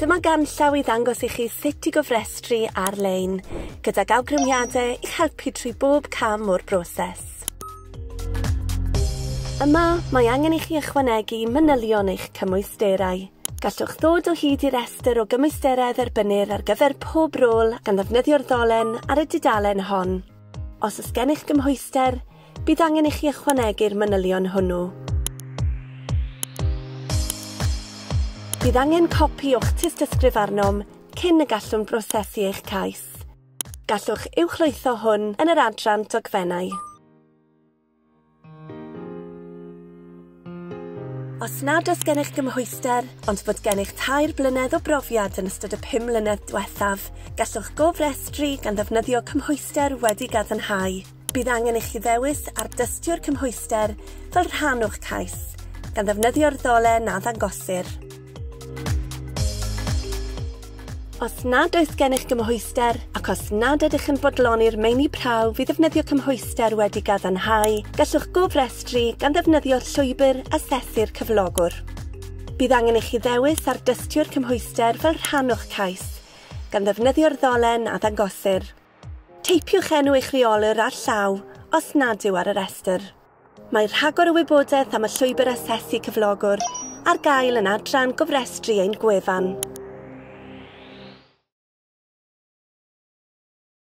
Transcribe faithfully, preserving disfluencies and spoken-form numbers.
Dyma ganllaw i ddangos i chi sut i gofrestru ar-lein, gydag awgrymiadau i'ch helpu trwy bob cam o'r broses. Yma, mae angen i chi ychwanegu manylion eich cymwysterau. Gallwch ddod o hyd i restr o gymwysterau dderbynnir ar gyfer pob rôl gan ddefnyddio'r ddolen ar y dudalen hon. Os oes gennych gymhwyster, bydd angen i chi ychwanegu'r manylion hwnnw. Bydd angen copi o'ch tystysgrif arnom cyn y gallwn brosesu eich cais. Gallwch uwchlwytho hwn yn yr adran dogfennau. Os nad oes gennych gymhwyster, ond bod gennych tair blynedd o brofiad yn ystod y pum mlynedd diwethaf, gallwch gofrestru gan ddefnyddio cymhwyster wedi gadarnhau. Bydd angen i chi ddewis ardystio'r cymhwyster fel rhan o'ch cais, gan ddefnyddio'r ddolen a ddangosir. Os nad oes gennych gymhwyster, ac os nad ydych yn bodloni'r meini prawf i ddefnyddio cymhwyster wedi gadarnhau, gallwch gofrestru gan ddefnyddio llwybr asesu'r cyflogwr. Bydd angen i chi ddewis ardystio'r cymhwyster fel rhan o'ch cais, gan ddefnyddio'r ddolen a ddangosir. Teipiwch enw eich rheolwr ar llaw os nad yw ar y restr. Mae rhagor o wybodaeth am y llwybr asesu cyflogwr ar gael yn adran gofrestru ein gwefan.